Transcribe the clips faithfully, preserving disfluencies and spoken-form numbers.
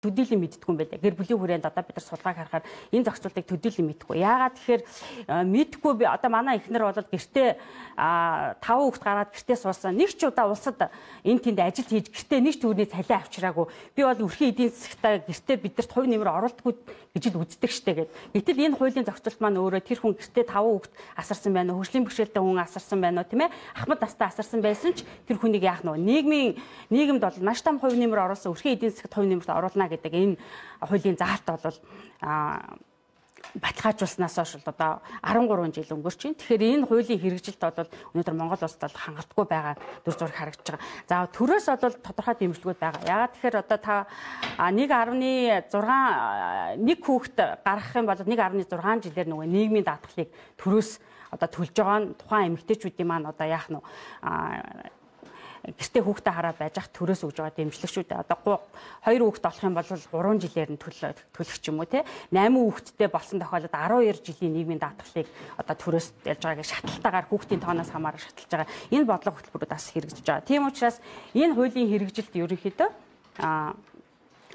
төдийлөн мэддэггүй юм байлаа. Гэр бүлийн хүрээнд одоо бид нар судалгааг харахаар энэ зохицуултыг төдийлөн мэдхгүй. Яагаад тэгэхээр мэдхгүй би одоо манай эхнэр бол гэртээ таван хүүхэд гаргаад гэртээ суусан. Нэг ч удаа улсад энэ тэнд ажил хийж гэртээ нэг ч төгрөний цалин авчираагүй. Би бол өрхийн эдийн засагтаа гэртээ бидэрт хувь нэмэр оруулдаггүй гэж л үздэг штэ гэд. Гэтэл энэ хуулийн зохицуулт маань өөрөө тэр хүн гэртээ таван хүүхэд асарсан байна уу? Хөгжлийн бэрхшээлтэй хүн асарсан байна уу, тийм ээ? Ахмад настай асарсан байсан ч тэр хүнийг яах нь вэ? Нийгмийн нийгэмд бол маш том хувь нэмэр оруулсан өрхийн эдийн засагт хувь нэмэрт оруулна гэдэг энэ хуулийн заалт бол баталгаажуулснаас хойш одоо арван гурван жил өнгөрч байна. Тэгэхээр энэ хуулийн хэрэгжилт бол өнөөдөр Монгол улсад бол хангалтгүй байгаа дүр зураг харагдаж байгаа. За төрөөс бол тодорхой дэмжлэгүүд байгаа. Яагаад тэгэхээр одоо та нэг арван зургаан нэг хүүхэд гаргах юм бол нэг арван зургаан жилээр нөгөө нийгмийн даатгалыг төрөөс одоо төлж байгаа нь тухайн эмэгтэйчүүдийн маань одоо яах нь гэртээ хүүхдээ хараа байж ах төрөөс өгж байгаа дэмжлэг шүү дээ. Одоо хоёр хүүхэд болох юм бол гурван жилээр нь төлөх ч юм уу те. Найман хүүхэдтэй болсон тохиолдолд арван хоёр жилийн нийгмийн даатгалыг одоо төрөөс ялж байгааг шатлалтаагаар хүүхдийн тооноос хамааран шатлж байгаа. Энэ бодлого хөтөлбөрүүд бас хэрэгжиж байгаа. Тийм учраас энэ хуулийн хэрэгжилт ерөнхийдөө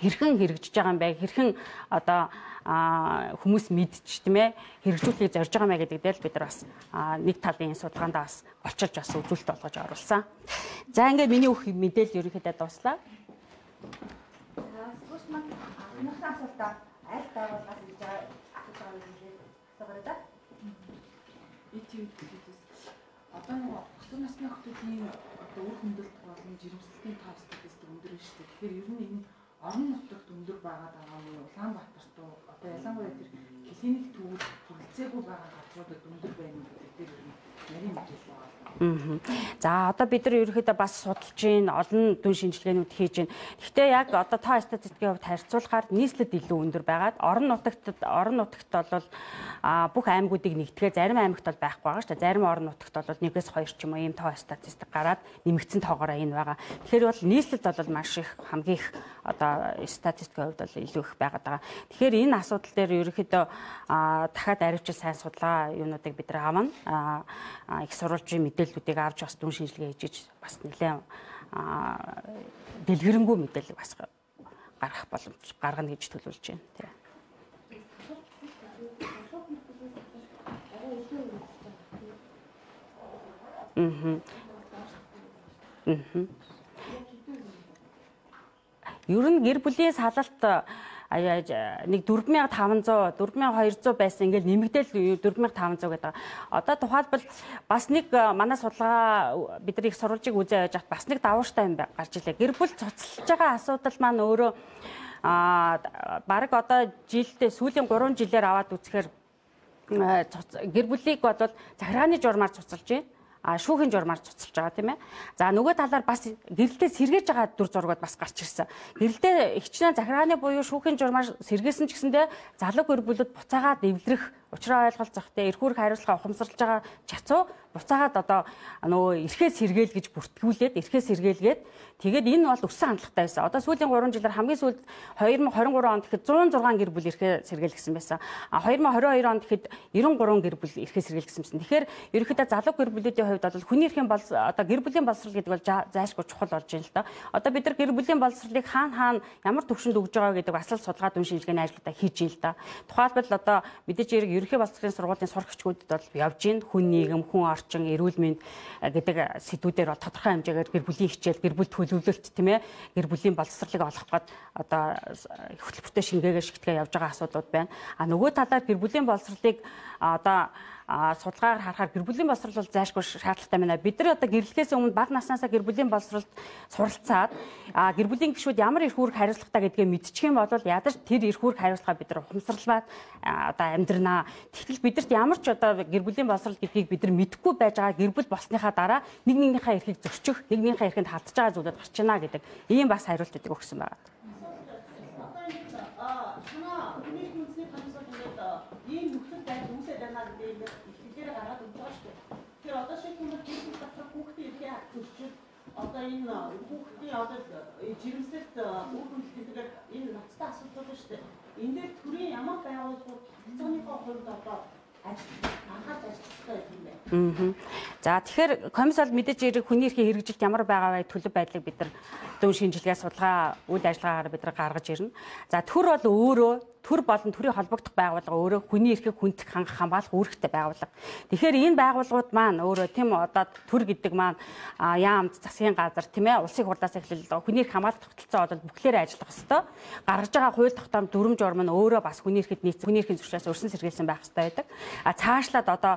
хэрхэн хэрэгжиж байгаа юм бэ? Хэрхэн одоо хүмүүс мэдчих тийм ээ хэрэгжүүлэхийг зорж байгаа мэй гэдэг дээр бид нар бас нэг талын судалгаандаа бас олчилж бас үзүүлэлт болгож оруулсан. За ингээд миний өөх мэдээлэл ерөнхийдөө дуслаа. За сүүш маань анхны асуултаа аль байгууллагаас хийж байгаа асууж байгаа юм хэлээ асуугаарай да. Итв хэлээс одоо нэг өсвөр насны хүүхдийн одоо үр хөндлөлт болон жирэмслэлтийн тав статистик өндөр нь шүү дээ. Тэгэхээр ер нь энэ орон нутагт өндөр байгаад байгаа нь Улаанбаатарт одоо ялангуяа тэр клиник төвд хүрэлцээгүй байгаа газруудад өндөр байна гэдэг дээр нарийн мэдээлэл байгаа. За одоо бид нар ерөөхдөө бас судалж гин олон дүн шинжилгээнүүд хийж гин. Гэхдээ яг одоо тоо статистикийн хувьд харьцуулахаар нийслэлд илүү өндөр байгаад орон нутагт орон нутагт бол бүх аймагуудыг нэгтгэе зарим аймагт бол байхгүй байгаа шүү дээ. Зарим орон нутагт бол нэгээс хоёр ч юм уу ийм тоо статистик гараад нэмэгдсэн тоогоороо энэ байгаа. Тэгэхээр бол нийслэлд бол маш их хамгийн их одоо статистикийн хувьд бол илүү их байгаад байгаа. Тэгэхээр энэ асуудал дээр ерөөхдөө дахиад аривчил сайн судалгаа юунуудыг бид нар авна. Их сурвалжийн мэдээллүүдийг авч бас дүн шинжилгээ хийж бас нэлээд дэлгэрэнгүй мэдээлэл бас гаргах боломж гаргана гэж төлөвлөж байна. Тийм. Мм. Мм. Ер нь гэр бүлийн салалт нэг дөрвөн мянган таван зуун дөрвөн мянган хоёр зуун байсан ингээд нэмэгдээл дөрвөн мянган таван зуун гэдэг. Одоо тухайлбал бас нэг манай судалгаа бид нар их сурвалжийг үзээ явж хат бас нэг давууштай юм гарч илээ. Гэр бүл цуцлж байгаа асуудал маань өөрөө аа баг одоо жилдээ сүүлийн гурван жилээр аваад үзэхээр гэр бүлийг бодвол захиргааны журмаар цуцлж байна. А шүүхийн журмаар цуцлж байгаа тийм ээ. За нөгөө талаар бас гэрэлдээ сэргээж байгаа дүр зургууд бас гарч ирсэн. Гэрэлдээ ихчлэн захиргааны буюу шүүхийн журмаар сэргээсэн ч гэсэндээ залуу гэр бүлүүд буцаагаад эвлэрэх, учраа ойлголцох те эрх үүрэг хариуцлага ухамсарлаж байгаа чацуу буцаагаад одоо нөгөө эрхээ сэргээл гэж бүртгүүлээд эрхээ сэргээлгээд тэгээд энэ бол өссөн хандлагатай байсан. Одоо сүүлийн гурван жилээр хамгийн сүүлд хоёр мың хорин гурван онд гэхэд зуун зургаан гэр бүл эрхээ сэргээлгсэн байсан. А хоёр мың хорин хоёр онд гэхэд девяносто гурван гэр бүл эрхээ сэргээлгсэн байсан. Тэгэхээр ерөнхийдөө залуу гэр бүлүүдийн хувьд бол хүний эрхийн бол одоо гэр бүлийн боловсрол гэдэг бол зайлшгүй чухал болж байна л да. Одоо бид нар гэр бүлийн боловсролыг хаана хаана ямар төвшөнд өгж байгаа гэдэг бас л судалгаа дүн шинжилгээний ажлуудаа хийж ийн л да. Тухайлбал одоо мэдээж хэрэг ерөнхий боловсролын сургуулийн сурагчдад бол явж ийн хүн нийгэм, хүн орчин, эрүүл мэнд гэдэг сэдвүүдээр бол тодорхой хэмжээгээр гэр бүлийн хичээл, гэр бүл төлөвлөлт тийм ээ гэр бүлийн боловсролыг олох гээд одоо хөтөлбөртэй шингээгээ шигтгээ явж байгаа асуудлууд байна. А нөгөө талаар гэр бүлийн боловсролыг одоо судалгаагаар харахаар гэр бүлийн боловсрол бол зайлшгүй шаардлагатай байна. Бид нар одоо гэрлэхээс өмнө бага наснаасаа гэр бүлийн боловсролд суралцаад гэр бүлийн гишүүд ямар эрх үүрэг хариуцлагатай гэдгээ мэдчих юм бол ядаж тэр эрх үүрэг хариуцлага бид нар ухамсарлаад одоо амьдрнаа. Тэгтэл бидэрт ямар ч одоо гэр бүлийн боловсрол гэдгийг бид нар мэдэхгүй байж байгаа гэр бүл болсныхаа дараа нэг нэгнийхээ эрхийг зөрчих, нэг нэгнийхээ эрхэнд халтж байгаа зүйлүүд гарч ийна гэдэг ийм бас хариултуудыг өгсөн байна. Ийм нөхцөл байдал үүсэж байна гэдэг нь ихлээр гараад өгч байгаа шүү дээ. Тэгэхээр одоо шиг юм бол гэр бүл дотор хүүхдийн эрхээ зөрчил одоо энэ хүүхдийн одоо жирэмслэлт үр хөвгөл гэдэг энэ ноцтой асуудал шүү дээ. Энэ дээр төрийн ямар байгууллагууд цэцгийнхээ хувьд одоо анхаарч ажиллах хэрэгтэй юм байна. Аа. За тэгэхээр комисс бол мэдээж хэрэг хүний эрхийн хэрэгжилт ямар байгаа вэ төлөв байдлыг бид нар дүн шинжилгээ судалгаа үйл ажиллагаагаар бид нар гаргаж ирнэ. За төр бол өөрөө төр болон төрийн холбогдох байгууллага өөрөө хүний эрхийг хүндэх хангах хамгаалах үүрэгтэй байгууллага. Тэгэхээр энэ байгууллагууд маань өөрөө тийм одоо төр гэдэг маань яамд засгийн газар тийм ээ улсын хурлаас эхлэл хүний эрх хамгаалах тогтолцоо бол бүхлээрээ ажиллах ёстой. Гаргаж байгаа хууль тогтоом дүрм журам нь өөрөө бас хүний эрхэд нийцсэн хүний эрхийн зөвшөөрлөөс өрсөн сэргийлсэн байх ёстой байдаг. А цаашлаад одоо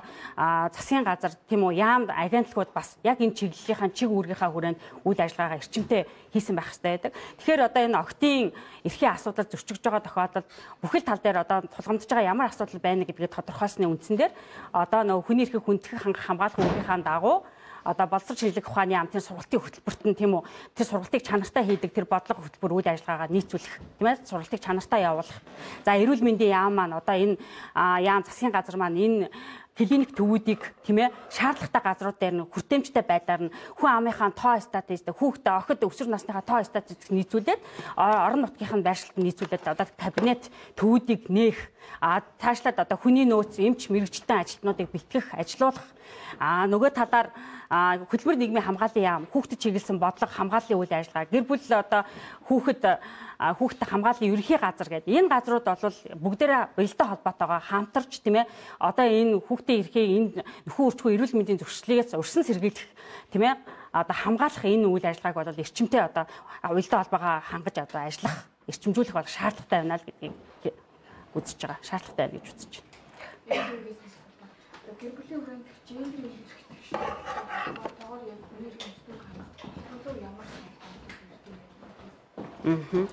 засгийн газар тийм үү яамд агентлагууд бас яг энэ чиглэлийнхаа чиг үүргийнхаа хүрээнд үйл ажиллагаагаа эрчимтэй хийсэн байх ёстой байдаг. Тэгэхээр одоо энэ октын эрхийн асуудал зөрчигдөж байгаа тохиолдолд бүхэл тал дээр одоо тулгамдж байгаа ямар асуудал байна гэдгийг тодорхойлсны үндсэн дээр одоо нөгөө хүний эрхийг хүндэх хангах хамгаалах үүргийнхаа дагуу одоо боловсрол шинжилгээ ухааны амтны сургалтын хөтөлбөрт нь тийм үү тэр сургалтыг чанартай хийдэг тэр бодлого хөтөлбөр үйл ажиллагаагаа нийцүүлэх тийм ээ сургалтыг чанартай явуулах. За эрүүл мэндийн яам маань одоо энэ яам засгийн газар маань энэ клиник төвүүдийг тийм ээ шаардлагатай газрууд дээр нь хүртээмжтэй байдлаар нь хүн амынхаа тоо статистик хүүхдээ охид өсвөр насныхаа тоо статистик нийцүүлээд орон нутгийнхаа байршилд нийцүүлээд одоо кабинет төвүүдийг нээх а цаашлаад одоо хүний нөөц эмч мэрэгчлэн ажилтнуудыг бэлтгэх ажилуулах а нөгөө талаар хөтөлбөр нийгмийн хамгааллын яам хүүхдэд чиглэсэн бодлого хамгааллын үйл ажиллагаа гэр бүл одоо хүүхэд хүүхдэд хамгааллын ерөнхий газар гэдэг энэ газрууд бол бүгдээрээ уялдаа холбоотойгоо хамтарч тийм ээ одоо энэ хүүхдийн эрхийг энэ нөхөн үрчгүй эрүүл мэндийн зөвшөөрлөөс өрсөн сэргийлэх тийм ээ одоо хамгаалах энэ үйл ажиллагааг бол эрчимтэй одоо уялдаа холбоогоо хангаж одоо ажиллах эрчимжүүлэх бол шаардлагатай байна л гэдгийг үзэж байгаа шаардлагатай байна гэж үзэж байна. Гэр бүлийн хүрээнд гендерийн хэрэгтэй шүү. Тоогоор яг хүний эрхийн зөвлөлт хамгаалах ямар Аа.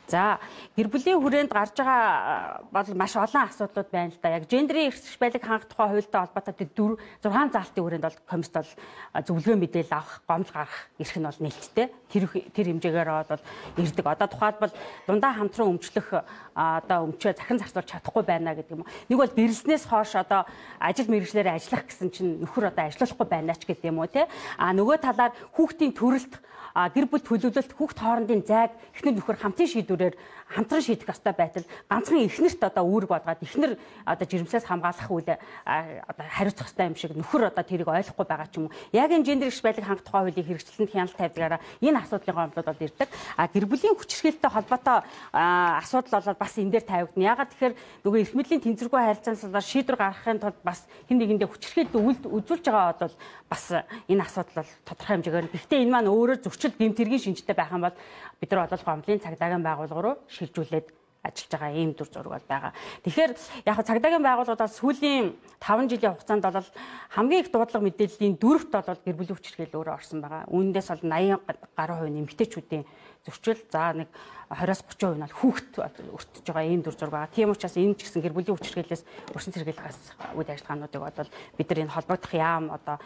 За гэр бүлийн хүрээнд гарч байгаа бол маш олон асуудлууд байна л да. Яг гендерийн эрх байлыг хангах тухай хуультай холбоотой тэр зургаан заалтын хүрээнд бол комисс бол зөвлөгөө мэдээлэл авах, гомдол гаргах эрх нь бол нээлттэй. Тэр тэр хэмжээгээр бол ирдэг. Одоо тухайлбал дундаа хамтран өмчлөх одоо өмчөө захин зарцуулж чадахгүй байна гэдэг юм. Нэг бол гэрлснээс хойш одоо ажил мэргэжлээр ажиллах гэсэн чинь нөхөр одоо ажиллахгүй байна ч гэдэг юм уу те. А нөгөө талаар хүүхдийн төрөлт гэр бүл төлөвлөлт хүүхд хоорондын зайг эхнэр нөхөр хамтын шийдвэрээр хамтран шийдэх ёстой байтал ганцхан эхнэрт одоо үүрэг болгоод эхнэр одоо жирэмслээс хамгаалах үйл одоо хариуцах ёстой юм шиг нөхөр одоо тэрийг ойлгохгүй байгаа ч юм уу. Яг энэ гендер эрх байлыг хангах тухай хуулийг хэрэгжилтэнд хяналт тавьдагаараа энэ асуудлын гомдлууд бол ирдэг. А гэр бүлийн хүчирхээлтэй холбоотой асуудал бол бас энэ дээр тавигдана. Ягаад тэгэхээр нөгөө эрх мэдлийн тэнцвэргүй харилцаанаас шийдвэр гаргахын тулд бас хэн нэгэндээ хүчирхээлтэй үйл үзүүлж байгаа бол бас энэ асуудал бол тодорхой хэмжээгээр. Гэхдээ энэ маань өөрөө зөрчил гэмт хэргийн шинжтэй байх юм бол бид нар бол гомдлын цагдаагийн байгууллага руу шилжүүлээд ажиллаж байгаа ийм дүр зураг бол байгаа. Тэгэхээр яг цагдаагийн байгууллагууд сүүлийн таван жилийн хугацаанд бол хамгийн их дуудлага мэдээллийн дөрөвт бол гэр бүлийн хүчирхийлэл өөрөө орсон байгаа. Үүнээс бол eighty гаруй хувь эмэгтэйчүүдийн зөрчил за нэг twenty-оос thirty хувь нь бол хүүхэд өртөж байгаа ийм дүр зураг байгаа. Тийм учраас энэ ч гэсэн гэр бүлийн хүчирхийллээс өрсөн сэргийлэхээс үйл ажиллагаануудыг бол бид нар энэ холбогдох яам одоо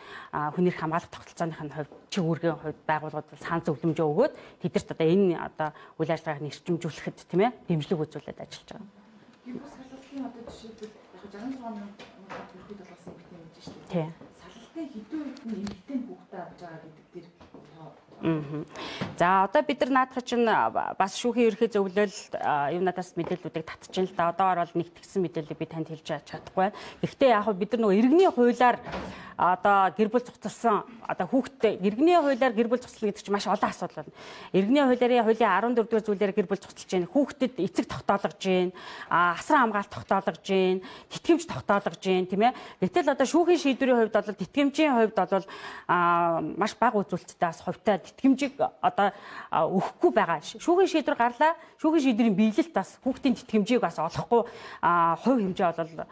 хүний эрх хамгаалах тогтолцооны хувьд чиг үүргийн хувьд байгууллагууд санал зөвлөмжөө өгөөд тэдэрт одоо энэ одоо үйл ажиллагааг нэрчимжүүлэхэд тийм ээ дэмжлэг үзүүлээд ажиллаж байгаа. Гэр бүл салгалтын одоо жишээлбэл яг sixty-six мянган ерхэд болгосон юм гэж шүү дээ. Тийм. Салгалтын хэдэн үед нь эмэгтэй хүүхдээ авч байгаа гэдэг дээр Аа. За одоо бид нар наадах чинь бас шүүхийн ерхий зөвлөл юм надаас мэдээллүүдийг татчихна л да. Одоогоор бол нэгтгэсэн мэдээллийг би танд хэлж чадахгүй байна. Гэхдээ яг бид нар нөгөө иргэний хуулиар одоо гэр бүл цуцлсан одоо хүүхдээ иргэний хуулиар гэр бүл цуцлал гэдэг чинь маш олон асуудал байна. Иргэний хуулиарын хуулийн fourteen дугаар зүйлээр гэр бүл цуцлж байна. Хүүхдэд эцэг тогтоологж байна. Асран хамгаалалт тогтоологж байна. Тэтгэмж тогтоологж байна, тийм ээ. Гэтэл одоо шүүхийн шийдвэрийн хувьд бол тэтгэмжийн хувьд бол маш бага үзүүлэлттэй бас хувьтай тэтгэмжийг одоо өгөхгүй байгаа. Шүүхийн шийдвэр гарлаа. Шүүхийн шийдвэрийн биелэлт бас хүүхдийн тэтгэмжийг бас олохгүй хувь хэмжээ бол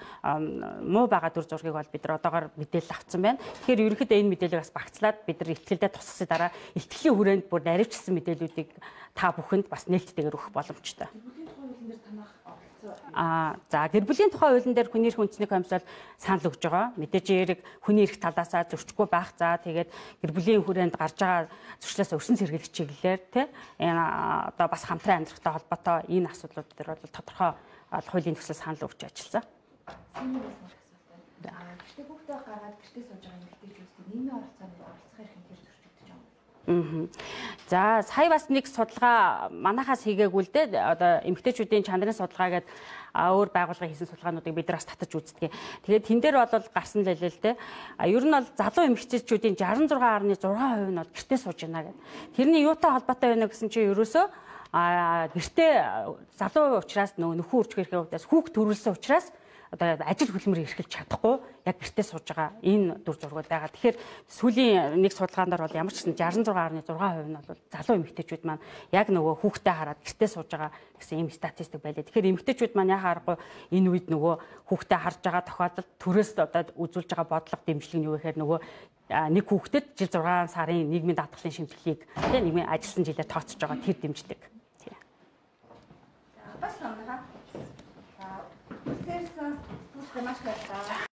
муу байгаа дүр зургийг бол бид нар одоогоор мэдээлэл авсан байна. Тэгэхээр ерөнхийдөө энэ мэдээллийг бас багцлаад бид нар ихтгэлдээ тусгасны дараа ихтгэлийн хүрээнд бүр наривчсан мэдээллүүдийг та бүхэнд бас нээлттэйгээр өгөх боломжтой. А за гэр бүлийн тухай хуулийн дээр хүний эрх үндэсний комисс бол санал өгж байгаа. Мэдээж хэрэг хүний эрх талаасаа зөрчихгүй байх. За тэгээд гэр бүлийн хүрээнд гарч байгаа зөрчлөөс өрсөн сэргийлэх чиглэлээр тий энэ одоо бас хамтран амьдрахтай холбоотой энэ асуудлууд дээр бол тодорхой хуулийн төсөл санал өгч ажилласан. Гэхдээ хүүхдээ гаргаад гэртээ сууж байгаа эмэгтэйчүүд нийгмийн оролцоонд оролцох эрх нь тэр зөрчигдөж байгаа. За сая бас нэг судалгаа манахаас хийгээгүй л дээ. Одоо эмэгтэйчүүдийн чанарын судалгаа гэдэг өөр байгууллагын хийсэн судалгаануудыг бид нар бас татаж үздэг. Тэгээд тэн дээр бол гарсан л хэлээ л дээ. А ер нь бол залуу эмэгтэйчүүдийн шестнадцать гаруй зургаан хувь нь бол гэртээ сууж байна гэдэг. Тэрний юутай холбоотой байна гэсэн чинь ерөөсөө а гэртээ залуу учраас нөгөө нөхөн үржих хэрэг удаас хүүхд төрүүлсэн учраас одоо ажил хөдөлмөр эрхэлж чадахгүй яг гэртээ сууж байгаа энэ дүр зургууд байгаа. Тэгэхээр сүүлийн нэг судалгаанаар бол ямар ч гэсэн шестнадцать гаруй зургаан хувь нь бол залуу эмэгтэйчүүд маань яг нөгөө хүүхдээ хараад гэртээ сууж байгаа гэсэн ийм статистик байлаа. Тэгэхээр эмэгтэйчүүд маань яхаа аргагүй энэ үед нөгөө хүүхдээ харж байгаа тохиолдолд төрөөс одоо үзүүлж байгаа бодлого дэмжлэг нь юу гэхээр нөгөө нэг хүүхдэд жил зургаан сарын нийгмийн даатгалын шимтгэлийг тийм нийгмийн ажилласан жилээр тооцож байгаа тэр дэмжлэг. Бас номноо. Аа, тэрс түлхэ маш хайртай.